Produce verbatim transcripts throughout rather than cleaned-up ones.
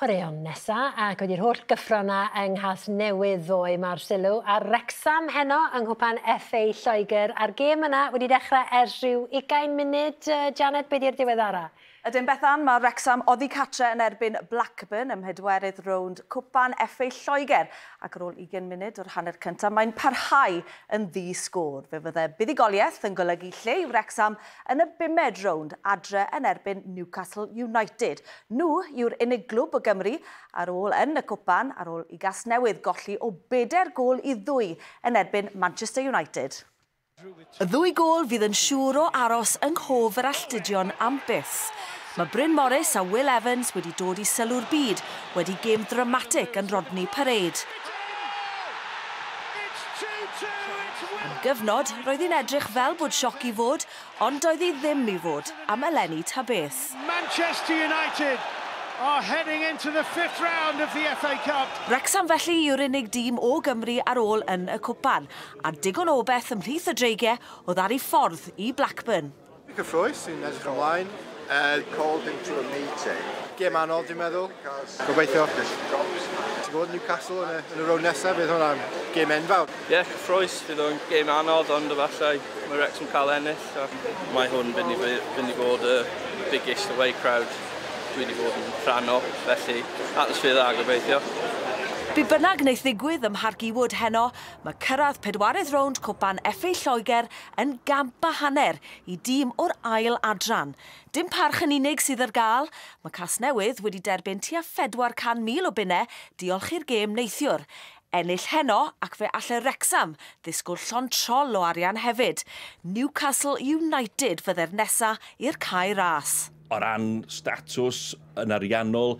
Chwaraeon nesa, ac wedi'r holl gyffro 'na yng Nghasnewydd ddoe, mae'r sylw ar Wrecsam heno yng Nghwpan F A Lloegr, a'r gêm yna wedi dechrau ers rhyw ugain munud. Janet, be di'r diweddara? Ydyn, Bethan, mae Wrexham oddi catre yn erbyn Blackburn ym mhedwerydd rownd Cwpan F A Lloegr, ac ar ôl ugain munud o'r hanner cyntaf mae'n parhau yn ddi-sgôr. Fe fydde buddugoliaeth yn golygu lle i Wrexham yn y bumed rownd adre yn erbyn Newcastle United. Nhw yw'r unig glwb o Gymru ar ôl yn y cwpan ar ôl i Gasnewydd golli o bedair gôl i ddwy yn erbyn Manchester United. Y ddwy gôl fydd yn siŵr o aros yng nghof yr alltudion am byth. Mae Bryn Morris a Will Evans wedi dod i sylw'r byd wedi gêm ddramatig yn Rodney Parade. Am gyfnod, roedd hi'n edrych fel bod sioc i fod, ond doedd hi ddim i fod am eleni ta beth. Manchester United are heading into the fifth round of the F A Cup. Wrexham felly yw'r unig dîm o Gymru ar ôl yn y cwpan, a digon o beth ymhlith y Dreigiau oedd ar ei ffordd i Blackburn. Cyffrous, sy'n edrych ymlaen. Uh, called into a meeting. Gêm anodd, dwi'n meddwl. Gobeithio. Ti'n gwybod, Newcastle yn y, yn y rownd nesaf, fydd hwnna'n gêm enfawr. Ie, yeah, cyffrous, fydd o'n gêm anodd, ond efallai mae Wrexham cael ennill. A mae hwn fynd i, fynd i fod y biggest away crowd dwi wedi bod yn rhan o, felly atmosffer dda gobeithio. Be bynnag wneith ddigwydd ym Mharc Ewood heno, mae cyrraedd pedwaredd rownd Cwpan F A Lloegr yn gamp a hanner i dîm o'r ail adran. Dim parch yn unig sydd ar gael, mae Casnewydd wedi derbyn tua pedwar cant mil o bunnau diolch i'r gêm neithiwr. Ennill heno ac fe alle Wrexham ddisgwyl llond trol o arian hefyd. Newcastle United fydde'r nesa i'r Cae Ras. O ran statws yn ariannol,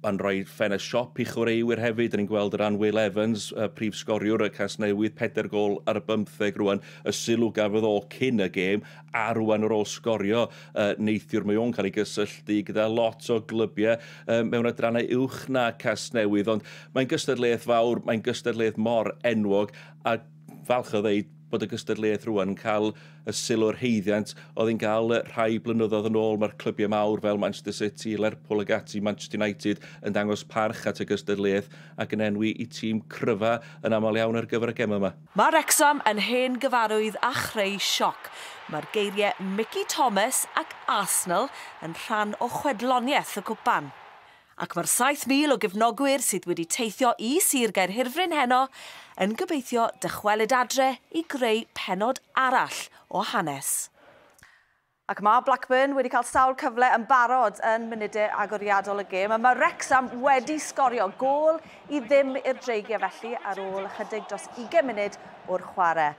mae'n rhoi ffenest siop i chwaraewyr hefyd. Dyn ni'n gweld o ran Will Evans, y prif sgoriwr y Casnewydd, peder gol ar y bymtheg rwan, y sylw gafodd o cyn y gêm, a rwan ar ôl sgorio uh, neithiwr, mae o'n cael ei gysylltu gyda lot o glybiau uh, mewn adrannau uwch na Casnewydd, ond mae'n gystadleuaeth fawr, mae'n gystadleuaeth mor enwog, a falch o ddeud bod y gystadleuaeth rwan yn cael y sylw'r haeddiant oedd hi'n cael rhai blynyddoedd yn ôl. Mae'r clybiau mawr fel Manchester City, Lerpwl ag ati, Manchester United yn dangos parch at y gystadleuaeth ac yn enwi eu tîm cryfa yn aml iawn ar gyfer y gem yma. Mae Wrexham yn hen gyfarwydd a chreu sioc. Mae'r geiriau Mickey Thomas ac Arsenal yn rhan o chwedloniaeth y cwpan. Ac mae'r saith mil o gefnogwyr sydd wedi teithio i Sir Gaerhirfryn heno yn gobeithio dychwelyd adre i greu penod arall o hanes. Ac mae Blackburn wedi cael sawl cyfle yn barod yn munudau agoriadol y gêm. A mae Wrexham wedi sgorio, gôl i ddim i'r Dreigiau felly ar ôl ychydig dros ugain munud o'r chwarae.